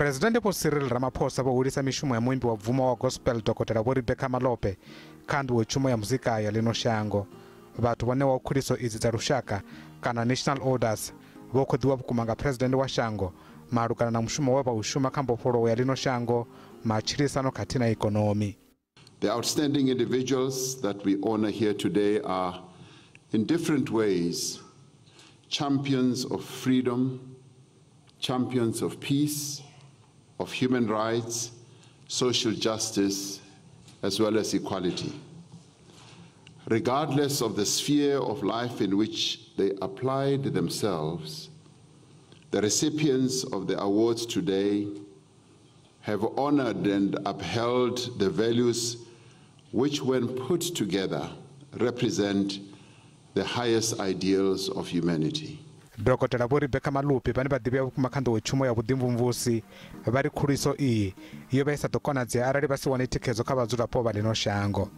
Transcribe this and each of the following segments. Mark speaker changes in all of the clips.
Speaker 1: Presidente Vho Cyril Ramaphosa vho hulisa mishumo ya muimbi wa bvumo wa gospel Dokotela Vho Rebecca Malope kha nḓowetshumo ya muzika ya ḽino shango. Vhathu vho ṋewaho khuliso idzi dza lushaka kana national orders vho khoḓiwa vhukuma nga presidennde wa shango malugana na mushumo we vha u shuma kha mbofholowo ya ḽino shango, matshilisano khathihi na ikonomi.
Speaker 2: The outstanding individuals that we honor here today are, in different ways, champions of freedom, champions of peace, of human rights, social justice, as well as equality. Regardless of the sphere of life in which they applied themselves, the recipients of the awards today have honored and upheld the values which, when put together, represent the highest ideals of humanity.
Speaker 1: Dokotela Vho Rebecca Malope vhane vha ḓivhea vhukuma kha nḓowetshumo ya vhuḓimvumvusi vha ri khuliso iyi yo vha i sa ḓo konadzea arali vha si wane thikhedzo kha vhadzulapo vha ḽino shango.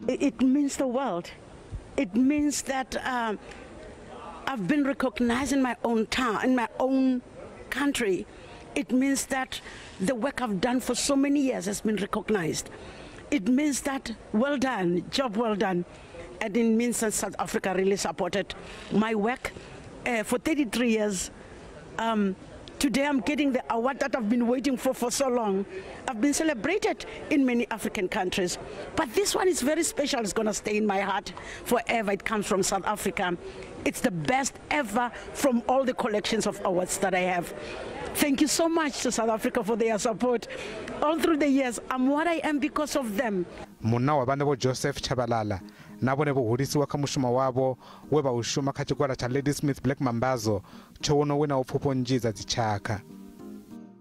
Speaker 3: It means the world. It means that I've been recognized in my own town, in my own country. It means that the work I've done for so many years has been recognized. It means that well done, job well done. And it means that South Africa really supported my work for 33 years. Today I'm getting the award that I've been waiting for so long. I've been celebrated in many African countries, but this one is very special. It's going to stay in my heart forever. It comes from South Africa. It's the best ever from all the collections of awards that I have. Thank you so much to South Africa for their support. All through the years, I'm what I am because of them.
Speaker 1: Munna wa vhane Vho Joseph Chabalala na vhone vho hulisiwa kha mushumo wavho we vha u shuma kha tshigwada tsha Ladysmith Black Mambazo tsho wono winaho pfufho nnzhi dza dzitshakha.